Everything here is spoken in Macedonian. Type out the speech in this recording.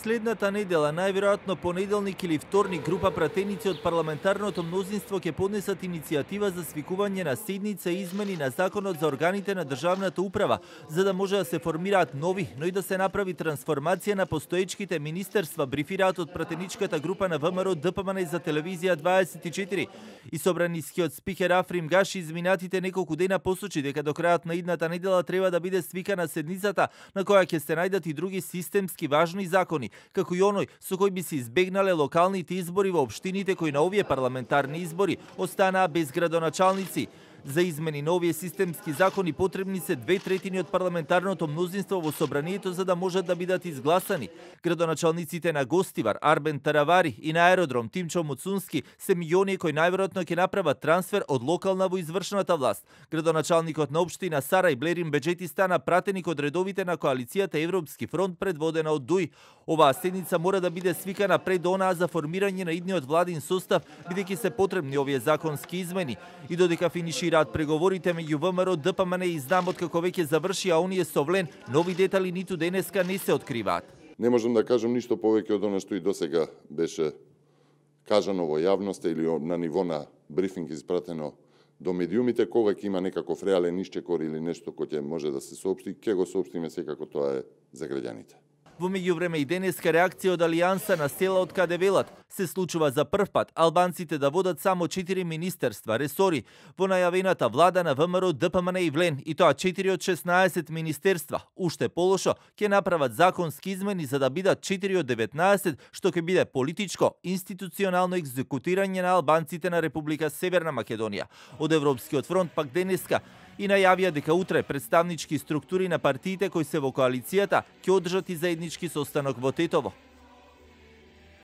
Следната недела, најверојатно понеделник или вторник, група пратеници од парламентарното мнозинство ќе поднесат иницијатива за свикување на седница и измени на законот за органите на државната управа, за да може да се формираат нови, но и да се направи трансформација на постоечките министерства, брифираат од пратеничката група на ВМРО ДПМН за телевизија 24. И собранискиот спикер Африм Гаши изминатите неколку дена посочи дека до крајот на идната недела треба да биде свикана седницата на која ќе се најдат и други системски важни закони, како и оној со кој би се избегнале локалните избори во општините кои на овие парламентарни избори останаа без градоначалници. За измени на овие системски закони потребни се 2/3 од парламентарното мнозинство во собранието за да можат да бидат изгласани. Градоначалниците на Гостивар, Арбен Таравари и на аеродром Тимчо Муцунски се милиони кои најверојатно ќе направат трансфер од локална во извршната власт. Градоначалникот на општина Сарај Блерин Беџети стана пратеник од редовите на коалицијата Европски фронт предводена од ДУИ. Оваа седница мора да биде свикана пред онаа за формирање на идниот владин состав, бидејќи се потребни овие законски измени. И додека финишираат преговорите меѓу ВМРО, ДПМН и Знамот како веќе заврши, а оние со Влен, нови детали ниту денеска не се откриваат. Не можам да кажам ништо повеќе од она што и досега беше кажано во јавноста или на ниво на брифинг испратено до медиумите. Кога ќе има некаков реален ишчекор или нешто кој ќе може да се соопшти, ќе го соопштиме, секако тоа е за граѓаните. Во меѓувреме и денеска реакција од Алијанса на села од каде велат се случува за прв пат албанците да водат само 4 министерства, ресори во најавената влада на ВМРО, ДПМН и Влен, и тоа 4 од 16 министерства. Уште полошо, ќе направат законски измени за да бидат 4 од 19, што ќе биде политичко, институционално екзекутирање на албанците на Република Северна Македонија. Од Европскиот фронт пак денеска и најавија дека утре представнички структури на партиите кои се во коалицијата ќе одржат и заеднички состанок во Тетово.